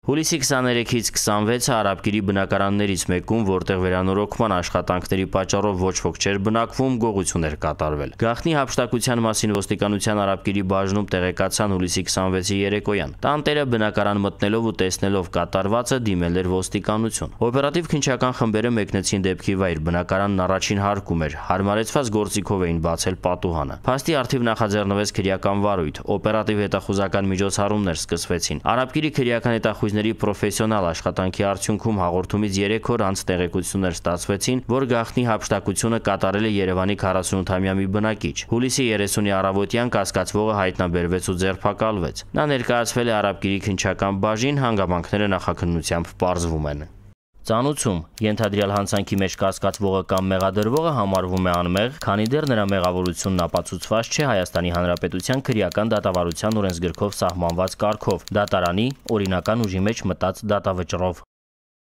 Հուլիսի 23-ից 26-ը Արաբկիրի բնակարաններից մեկում, որտեղ վերանորոգման աշխատանքների պատճառով ոչ ոք չէր բնակվում, գողություն էր կատարվել։ Գաղտնի հափշտակության մասին ոստիկանության Արաբկիրի բաժնում տեղեկացան հուլիսի 26-ի երեկոյան։ Տանտերը բնակարան մտնելով ու տեսնելով կատարվածը դիմել էր ոստիկանություն։ Օպերատիվ քննչական խմբերը մեկնեցին դեպքի վայր, բնակարանն առաջին հարկում էր, հարմարեցված գործիքով էին բացել պատուհանը։ Փաստի առթիվ նախաձեռնվեց քրեական վարույթ, օպերատիվ հետախուզական միջոցառումներ սկսվեցին։ Արաբկիրի քրեական հետախույզների պրոֆեսիոնալ աշխատանքի արդյունքում հաղորդումից 3 օր անց տեղեկություններ ստացվեցին, որ գաղտնի հափշտակությունը կատարել է Երևանի 48-ամյա մի բնակիչ։ Հուլիսի 30-ի առավոտյան կասկածվողը հայտնաբերվեց ու ձերբակալվեց։ Նա ներկայացվել է Արաբկիրի քննչական բաժին, հանգամանքները նախաքննությամբ պարզվում են։ Ծանուցում ենթադրյալ հանցանքի մեջ կասկածվողը կամ մեղադրվողը համարվում է անմեղ, քանի դեռ նրա մեղավորությունն ապացուցված չէ Հայաստանի Հանրապետության քրեական դատավարության օրենսգրքով սահմանված կարգով՝ դատարանի օրինական ուժի մեջ մտած դատավճռով։